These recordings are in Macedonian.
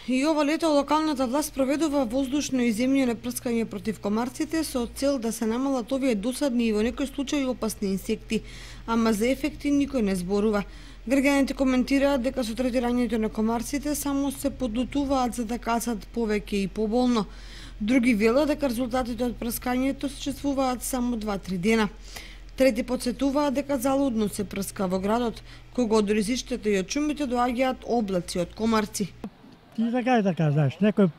И ова лето локалната власт проведува воздушно и земјено прскање против комарците со цел да се намалат овие досадни и во некои случаи опасни инсекти, ама за ефекти никој не зборува. Граѓаните коментираат дека со третирањето на комарците само се подлутуваат за да кацат повеќе и поболно. Други велат дека резултатите од прскањето се чувствуваат само 2-3 дена. Трети подсетуваат дека залудно се прска во градот, кога од ризиштата и од шумите доаѓаат облаци од комарци. И така, знаеш, некој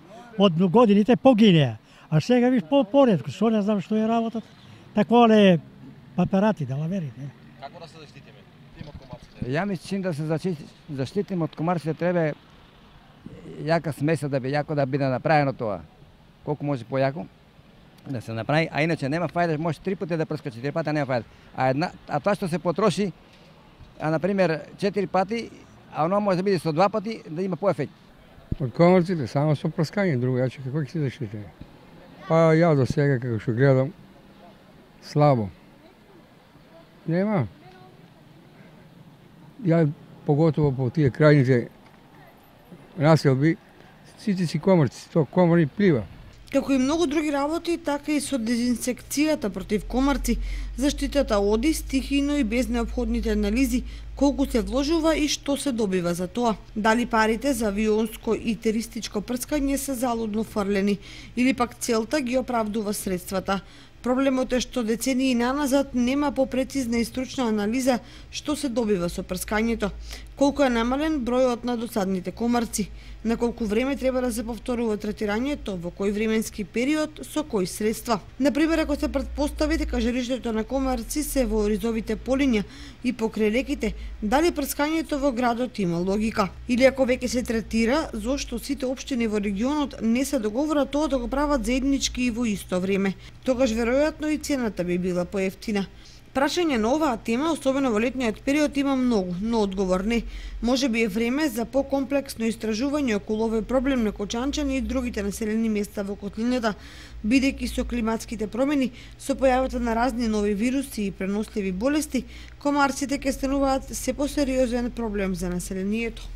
од годините погинеа, а сега виж поредко, што не знам што е работата. Такова е паперати, да лаверите. Како да се заштитиме од комарците? Ја мислам да се заштитиме од комарците треба јака смеса да биде направено тоа. Колку може појако да се направи, а иначе нема фајда, може 3 пати да прска, 4 пати нема фајда. А тоа што се потроши, на пример 4 пати, а оно може да биде со 2 пати да има поефект. Од комарците само со прскање, другојаче како ќе се заштитиме? Па ја до сега како што гледам слабо. Нема. Ја поготово по тие крајните населби, сите си комарци, тоа комари плива. Како и многу други работи, така и со дезинсекцијата против комарци, заштитата оди стихино и без неопходните анализи колку се вложува и што се добива за тоа. Дали парите за авионско и теристичко прскање се залудно фрлени или пак целта ги оправдува средствата. Проблемот е што децении наназад нема попрецизна и стручна анализа што се добива со прскањето, колку е намален бројот на досадните комарци, на колку време треба да се повторува третирањето, во кој временски период, со кои средства. Например, ако се претпостави дека жрижето на комарци се во ризовите полиња и покрај реките, дали прскањето во градот има логика? Или ако веќе се третира, зошто сите општини во регионот не се договорат тоа да го прават заеднички и во исто време? Тогаш веројатно и цената би била поевтина. Прашање на оваа тема, особено во летниот период, има многу, но одговор не. Може би е време за покомплексно истражување околу овој проблем на Кочанчани и другите населени места во котлината, бидејќи со климатските промени, со појавата на разни нови вируси и преносливи болести, комарците ќе стануваат се посериозен проблем за населението.